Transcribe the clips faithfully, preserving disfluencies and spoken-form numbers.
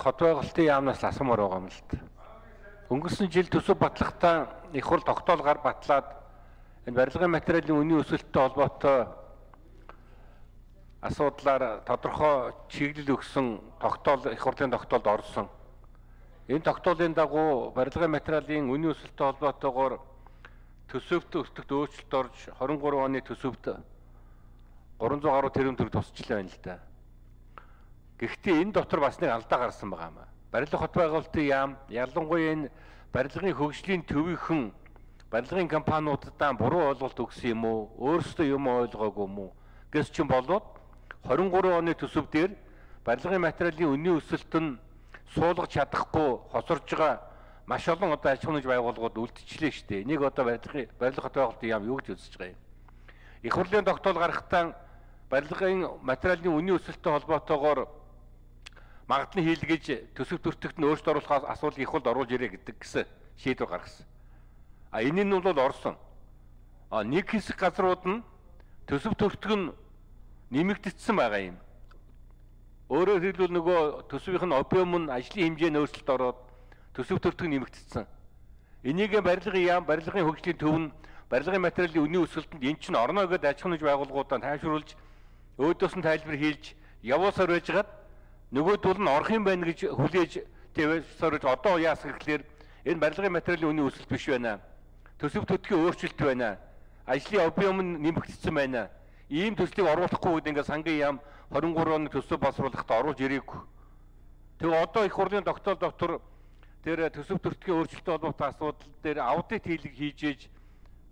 хот байгуулалтын яамнаас асуумаар байгаа юм л та. Өнгөрсөн жил төсөв батлахтаа их хурл тогтоолгаар батлаад энэ барилгын материалын үнийн өсөлттэй холбоотой асуудлаар тодорхой чиглэл өгсөн тогтоол их хурлын тогтоолд орсон. Энэ тогтоолын дагуу барилгын материалын үнийн өсөлттэй холбоотойгоор төсөвт өртөгт өөрчлөлт орж двадцать три оны төсөвт гурван зуун гаруй тэрбум төгрөг тусчлаа байна л да. Гэхдээ энэ дотор бас нэг алдаа гарсан байгаа юм. Барилга хот байгуулалтын яам ялангуяа энэ барилгын хөгжлийн төвийнхэн барилгын компаниудаа буруу ойлголт өгсөн юм уу? Өөрсдөө юм ойлгоогүй юм уу? Гэс чинь болоод двадцать три оны төсөв дээр барилгын материалын үнийн өсөлт нь суулгаж чадахгүй хосорж байгаа маш олон одоо аж ахуйн байгууллагууд үлдчихлээ шүү дээ. Энийг одоо барилгын барилга хот байгуулалтын яам юу гэж үзэж байгаа юм? Их хурлын тогтоол гаргахтаа барилгын материалын үнийн өсөлттэй холбоотойгоор магадлан хийлгэж төсөв төртөгт нь өөрчлөлт оруулах асуудлыг их хурд оруулж ирээ гэдэг гэсэн шийдвэр гаргасан. А энэ нь бол орсон. А нэг хэсэг газрууд нь төсөв төртөг нь нэмэгдсэн байгаа юм. Өөрөөр хэлбэл нөгөө төсвийн объем нь ажлын хэмжээнд өөрчлөлт ороод төсөв төртөг нэмэгдсэн. Энийг барилгын яам, барилгын хөгжлийн төв нь барилгын материалын үнийн өсөлтөнд эн чинь орно гэдээ аж ахуйн байгууллагуудаа тайвшруулж өөдөөс нь тайлбар хийж явуусаар байжгаад нөгөөдөл нь орох юм байна гэж хүлээж тавьсарж одоо яасан гэхээр энэ барилгын материалын үнийн өсөлт биш байна. Төсөв төртгийн өөрчлөлт байна. Ажлын объем нь нэмэгдсэн байна. Ийм төслийг оруулахгүй гэдэг ингээд сангийн яам двадцать три оны төсөв боловсруулахад оруулж ирээгүй. Тэгээ одоо их хурлын тогтоол доктор тэр төсөв төртгийн өөрчлөлттэй холбоотой асуудал дээр аудит хийлэг хийж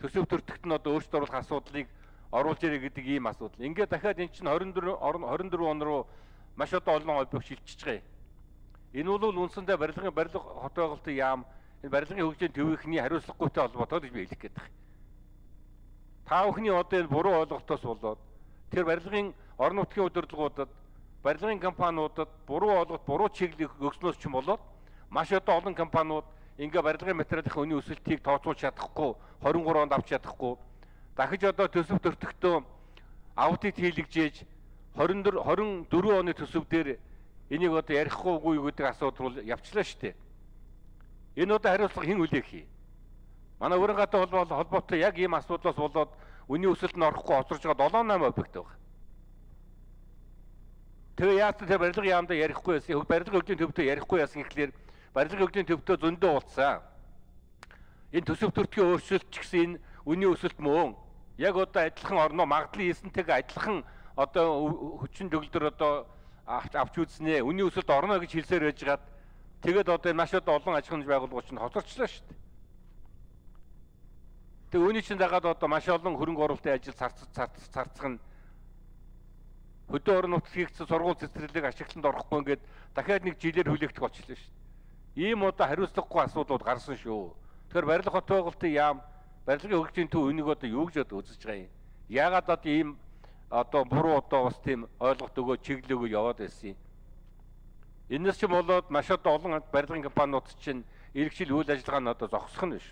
төсөв төртөгт нь одоо өөрчлөлт оруулах асуудлыг оруулж ирээ гэдэг ийм асуудал. Ингээд дахиад эн чинь двадцать четыре двадцать четыре он руу маш одоо олон объект шилжиж байгаа. Энэ бол үндсэндээ барилгын барилга хот байгуулалтын яам энэ барилгын хөгжлийн төвийнхний хариуцлагатай холбоотой гэж би хэлэх гээд байна. Та бүхний одоо энэ буруу ойлголтоос болоод тэр барилгын орон нутгийн удирдлагуудад барилгын компаниудад буруу ойлголт буруу чиглэл өгснөөс ч юм болоод маш одоо олон компаниуд ингээ барилгын материалын үнийн өсөлтийг тооцоолж чадахгүй двадцать три онд авч чадахгүй дахиж одоо төсөв төртөгтөө аудит хийлгэж двадцать четыре оны төсөв дээр энийг одоо ярихгүйгүй гэдэг асуудал бол явчлаа шүү дээ. Энэ одоо хариуцлага хэн хүлээх юм? Манай өрн гадаа холбоотой яг ийм асуудлаас болоод үнийн өсөлт нь орохгүй хоцорж байгаа seven eight объект байгаа. Тэгээ яагаад тэр барилгын яамдаа ярихгүй байсан? Барилгын хөгжлийн төвдөө ярихгүй байсан гэхлээр барилгын хөгжлийн төвдөө зөндөө уулцсан. Энэ төсөв төртгийн өөрчлөлт ч гэсэн энэ үнийн өсөлт мөн яг одоо адилхан орно магадлан хийсэнтэйгээ адилхан одоо хүчин төгөлдөр одоо авч үзснэ. Үнийн өсөлт орно гэж хэлсээр байжгаад тэгээд одоо маш одоо олон аж ахуйн байгууллагууд чинь хоцорчлаа шүү дээ. Тэгээ үүний чинь дагаад одоо маш олон хөрөнгө оруулалтын ажил царцах нь хөдөө орон нутгад хийгдсэн сургууль цэцэрлэг ашиглалтанд орохгүй ингээд дахиад нэг жилээр хүлээгдэх болчихлоо шүү дээ. Ийм одоо хариуцлагагүй асуудлууд гарсан шүү. Тэгэхээр барилга хот байгуулалтын яам барилгын хөгжлийн төв энийг одоо юу гэж одоо үзэж байгаа юм? Яагаад одоо ийм одоо буруу одоо бас тийм ойлголт өгөө чиглэл өгөө яваад байсан юм? Энэс ч болоод маш одоо олон барилгын компаниуд чинь иргэшил үйл ажиллагаа нь одоо зогсох нь биш.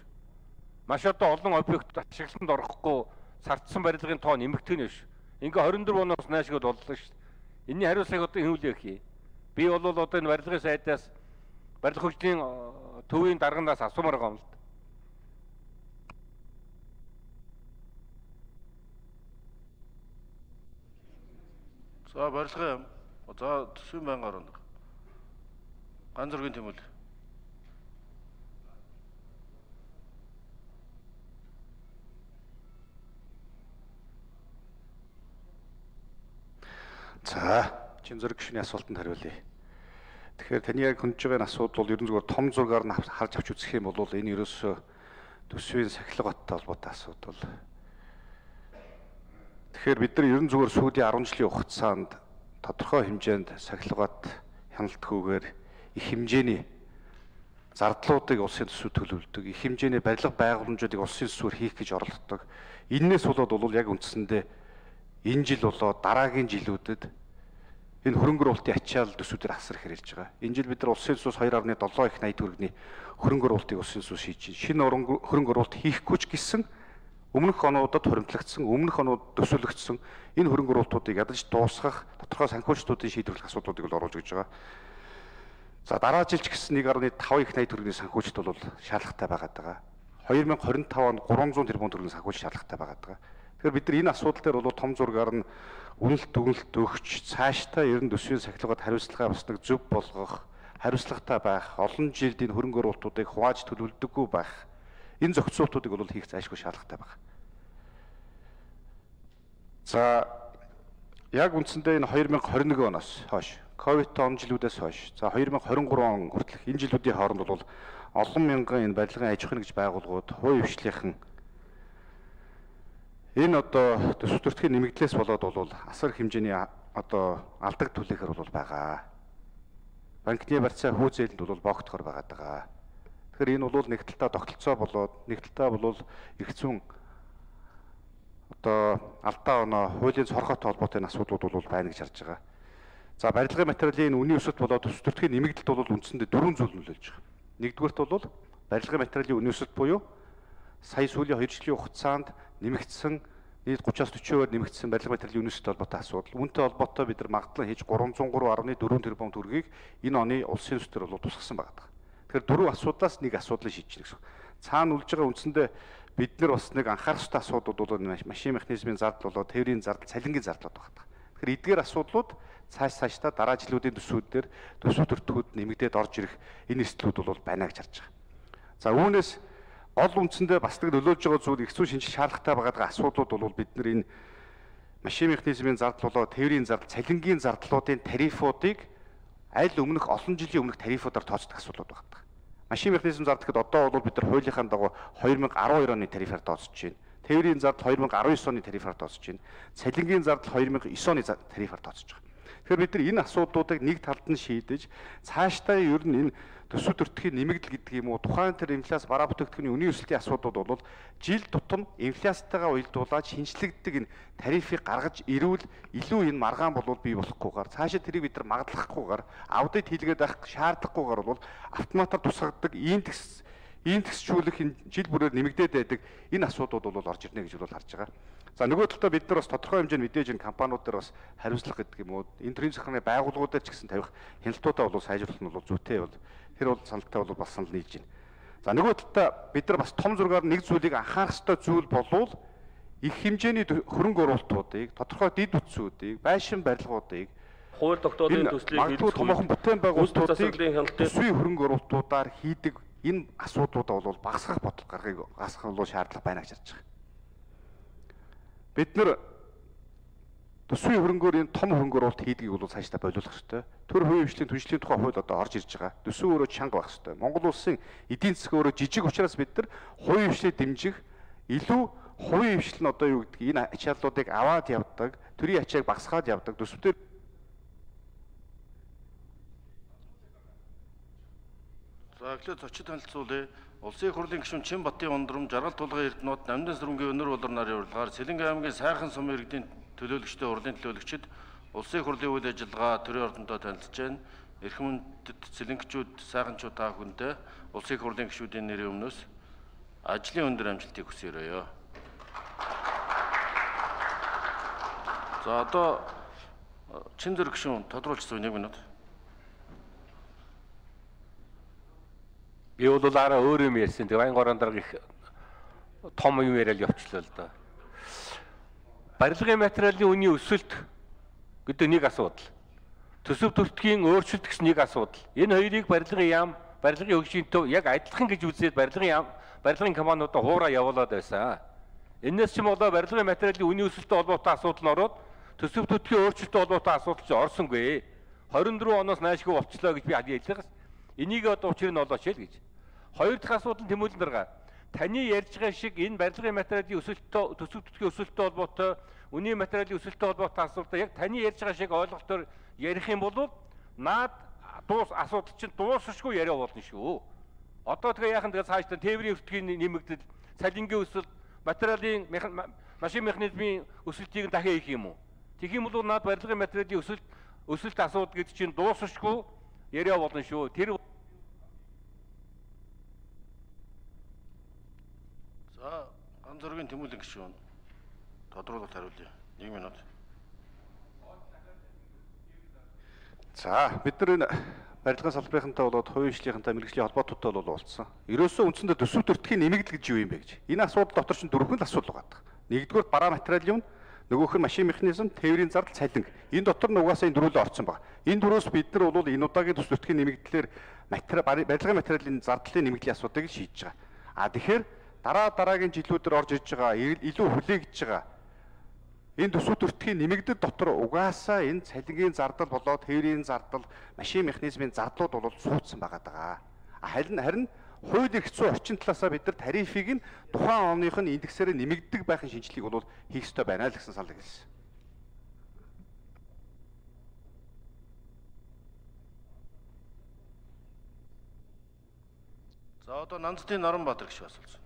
Маш одоо олон объект ашиглалтанд орохгүй сардсан барилгын тоо нэмэгдэх нь биш. Ингээ двадцать четыре оноос наашгүй боллоо шүү дээ. Энэний хариуцлагыг одоо хэн хүлээх юм? Би бол одоо энэ барилгын сайдаас барилга хөгжлийн төвийн дарганаас асуумаар байгаа юм л да. За барилгын яам. За төсвийн байнгын орон. Ганц зургийн тэмүүлэл. За, чин зураг гишүүний асуултанд хариулъя. Тэгэхээр таны яг хөндөж байгаа асуудал бол ерөн зүгээр том зургаар нь харж авч үзэх юм бол энэ ерөөсөө төсвийн сахилга баттай холбоотой асуудал. Тэгэхээр бид нар ерөн зүгээр сүүлийн ten жилийн хугацаанд тодорхой хэмжээнд сахилгат хяналтгүйгээр их хэмжээний зардлуудыг улсын төсөв төлөвлөдөг, их хэмжээний барилга байгууламжуудыг улсын төсвөөр хийх гэж оролддог. Иннээс болоод бол яг үндсэндээ энэ жил болоод дараагийн жилүүдэд энэ хөрөнгө оруулалтын ачаал төсвүүдээр асар их хэрэгж байгаа. Энэ жил бид нар улсын төсвөөс two point seven их найд төгрөгийн хөрөнгө оруулалтыг улсын төсвөөс хийж шинэ хөрөнгө оруулалт хийхгүй ч гэсэн өмнөх онуудад хуримтлагдсан, өмнөх онууд төсөөлөгдсөн энэ хөрөнгө оруулалтуудыг ядаж дуусгах тодорхой санхүүжилтуудын шийдвэрлэх асуудлуудыг бол оруулж өгч байгаа. За дараа жил ч гэсэн нэг гаруй таван их найд төгрөгийн санхүүжилт бол шаардлагатай байгаад байгаа. две тысячи двадцать пять онд гурван зуун тэрбум төгрөгийн санхүүжилт шаардлагатай байгаад байгаа. Тэгэхээр бид нар энэ асуудал дээр бол том зургаар нь үнэлт дүгнэлт өгч цаашдаа ер нь төсвийн сахилгад хариуцлагаа бас нэг зөв болгох, хариуцлагатай байх, олон жилд энэ хөрөнгө оруулалтуудыг хувааж төлөвлөдөггүй байх. Энэ зохицуултуудыг бол хийх зайлшгүй шаардлагатай байна. За яг үндсэндээ энэ две тысячи двадцать один оноос хойш, ковид он жилүүдээс хойш, за две тысячи двадцать три он хүртэлх энэ жилүүдийн хооронд бол олон мянган энэ барилгын аж ахуйн нэгж байгууллагууд хувийн хвшлийнхэн энэ одоо төсөв төртгийн нэмэгдлээс болоод бол асар хэмжээний одоо алдаг түлээхэр бол байгаа. Банкны барьцаа хүү зээлэнд бол богдохоор байгаад байгаа. Тэгэхээр энэ бол нэг талдаа тогтолцоо болоод нэг талдаа бол их зүүн одоо алдаа оноо хуулийн цорхойтой холбоотой энэ асуудлууд бол байна гэж харж байгаа. За барилгын материалын үнийн өсөлт болоод төсөв төртгийн нэмэгдэлт бол үндсэндээ дөрвөн зүйл нөлөөлж байгаа. Нэгдүгээрт бол барилгын материалын үнийн өсөлт буюу сая сүүлийн хоёр жилийн хугацаанд нэмэгдсэн нийт thirty-аас forty-оор нэмэгдсэн барилгын материалын үнийн өсөлттэй холбоотой асуудал. Үүнтэй холбоотой бид нар магадлан хийж three hundred three point four тэрбум төгрөгийг энэ оны улсын төсвөр бол тусгасан байгаа. Тэгэхээр дөрвөн асуудлаас нэг асуудлыг шийдчихнэ гэсэн. Цаана үлж байгаа үндсэндээ бид нар бас нэг анхаарах ёстой асуудлууд бол машин механизмын зардал болоо тээврийн зардал, цалингийн зардлууд байна. Тэгэхээр эдгээр асуудлууд цааш цаашдаа дараа жилүүдийн төсвүүдээр төсөв төртгүүд нэмэгдээд орж ирэх энэ эрсдлүүд бол байна гэж харж байгаа. За үүнээс гол үндсэндээ бас нэг нөлөөлж байгаа зүйл их зүйн шинжил шаардлагатай байгаа асуудлууд бол бид нар энэ машин механизмын зардал болоо тээврийн зардал, цалингийн зардлуудын тарифуудыг аль өмнөх олон жилийн өмнөх тарифуудаар тооцдог асуудлууд байна. Машин механизм зардал гэхэд одоо бол бид нар хуулийнхаа дагуу две тысячи twelve оны тарифаар тооцож байна. Тээврийн зардал две тысячи nineteen оны тарифаар тооцож байна. Цалингийн зардал две тысячи nine оны тарифаар тооцож байгаа. Тэгэхээр бид нар энэ асуудлуудыг нэг талд нь шийдэж цаашдаа ер нь энэ төсөв төртгийн нэмэгдэл гэдэг юм уу тухайн тэр инфляц бараа бүтээгдэхүүний үнийн өсөлтийн асуудлууд бол жил тутам инфляцтайгаа уялдуулаад шинжлэгддэг энэ тарифыг гаргаж ирвэл илүү энэ маргаан болов бий болохгүйгээр цаашаа тэрийг бид нар магадлахгүйгээр аудит хийлгээд байх шаардлагагүйгээр бол автоматар тусгагддаг индекс индексжүүлэх энэ жил бүрээр нэмэгдээд байдаг энэ асуудлууд бол орж ирнэ гэж бол харж байгаа. За нөгөө талдаа бид нар бас тодорхой хэмжээнд мэдээж энэ компаниуд дээр бас хариуцлага гэдэг юм уу энэ төрлийн захиргааны байгууллагуудаар ч гэсэн тавих хяналтуудаа бол сайжруулах нь бол зүйтэй бол тэр бол саналтай бол бас санал нийлж байна. За нөгөө талдаа бид нар бас том зургаар нэг зүйлийг анхаарах ёстой зүйл болвол их хэмжээний хөрөнгө оруулалтуудыг тодорхой дид үтсүүдийг байшин барилгуудыг хууль тогтоолын төслийг хийх томоохон бүтээн байгуулалтуудыг төсвийн хөрөнгө оруулалтуудаар хийдэг энэ асуудлуудаа бол багасгах бодлого гаргахыг гасгах бол шаардлага байна гэж харж байгаа. Бид нар төсвийн хөрөнгөөр энэ том хөрөнгө оруулалт хийдгийг бол цаашдаа болиулах ёстой. Төр хувийн хвшлийн түншлэлийн тухай хууль одоо орж ирж байгаа. Төсөв өөрөө чанга байх ёстой. Монгол улсын эдийн засаг өөрөө жижиг учраас бид нар хувийн хвшлийг дэмжих илүү хувийн хвшил нь одоо юу гэдгийг энэ ачааллуудыг аваад явдаг, төрийн ачааг багасгаад явдаг төсвтөр За эхлээд зочид танилцуулъя. Улсын их хурлын гишүүн Чинбатын ундрам, Жаргал тулгын Эрдэнэт, Намдан сүрэнгийн өнөр болор нарын урилгаар Сэлэнг аймгийн Сайхан сумын иргэдийн төлөөлөгчтэй урлын төлөөлөгчид улсын их хурлын үйл ажиллагаа төрийн ордондоо танилцж байна. Эрхэм үндэд Сэлэнгчүүд, сайханчууд та бүхэндээ улсын их хурлын гишүүдийн нэрийн өмнөөс ажлын өндөр амжилтыг хүсье. За одоо Чинзэр гишүүн тодруулчихсан нэг минут. Би бол арай өөр юм ярьсан. Тэг Баян горон дарга их том юм яриад явчлаа л да. Барилгын материалын үнийн өсөлт гэдэг нэг асуудал. Төсөв төртгийн өөрчлөлт гэсэн нэг асуудал. Энэ хоёрыг барилгын яам, барилгын хөгжлийн төв яг адилхан гэж үзээд барилгын яам, барилгын компаниудаа хуураа явуулаад байсан. Энээс ч юм болоо барилгын материалын үнийн өсөлттэй холбоотой асуудал нь ороод төсөв төртгийн өөрчлөлттэй холбоотой асуудал ч орсонгүй. twenty four оноос наашгүй болчлоо гэж би хэлээс. Энийг одоо учир нь олооч л гэж. Хоёр дахь асуудал нь тэмүүлэн дарга. Таны ярьж байгаа шиг энэ барилгын материалын өсөлттэй төсөв төртгийн өсөлттэй холбоотой, үнийн материалын өсөлттэй холбоотой асуудал яг таны ярьж байгаа шиг ойлголтоор ярих юм бол наад дуус асуудал чинь дуусахгүй яриа болно шүү. Одоо тэгээ яахан тэгээ цаашдаа тээврийн өвтгийн нэмэгдэл, цалингийн өсөлт, материалын машин механизмын өсөлтийг дахин хийх юм уу? Тэгэх юм бол наад барилгын материалын өсөлт өсөлт асуудал гэдэг чинь дуусахгүй яриа болно шүү. Тэр За ганц зургийн тэмүүлэн гишүүн тодруулалт хариулъя. нэг минут. За бид нар энэ барилгын салбарынхантай болоод хувийн хөгжлийнхэнтэй мэргэжлийн холбоотуудтай бол уулзсан. Ерөөсөө үндсэндээ төсөв төртгийн нэмэгдэл гэж юу юм бэ гэж. Энэ асуудал дотор чинь дөрвөн л асуудал байгаа. Нэгдүгээр бараа материалын юм, нөгөөх нь машин механизм, тээврийн зардал, цалинг. Энэ дотор нь угаасаа энэ дөрвөлөө орсон байна. Энэ дөрвөөс бид нар бол энэ удаагийн төсөв төртгийн нэмэгдлэр материал барилгын материалын зардлын нэмэгдлийн асуудыг шийдэж байгаа. А тэгэхээр дараа дараагийн жилүүдээр орж иж байгаа илүү хүлээгдэж байгаа энэ төсөв төртгийн нэмэгдэл дотор угаасаа энэ цалингийн зардал болоод тээврийн зардал, машин механизмын зардлууд бол суудсан байгаа даа. Харин харин хууль эрх зүйн орчин талаасаа бид нар тарифыг нь тухайн оных нь индексээр нэмэгддэг байхын шинжилгээг бол хийх ёстой байна л гэсэн санал хэлсэн. За одоо Нанцтын Наранбаатар гişүү асуусан.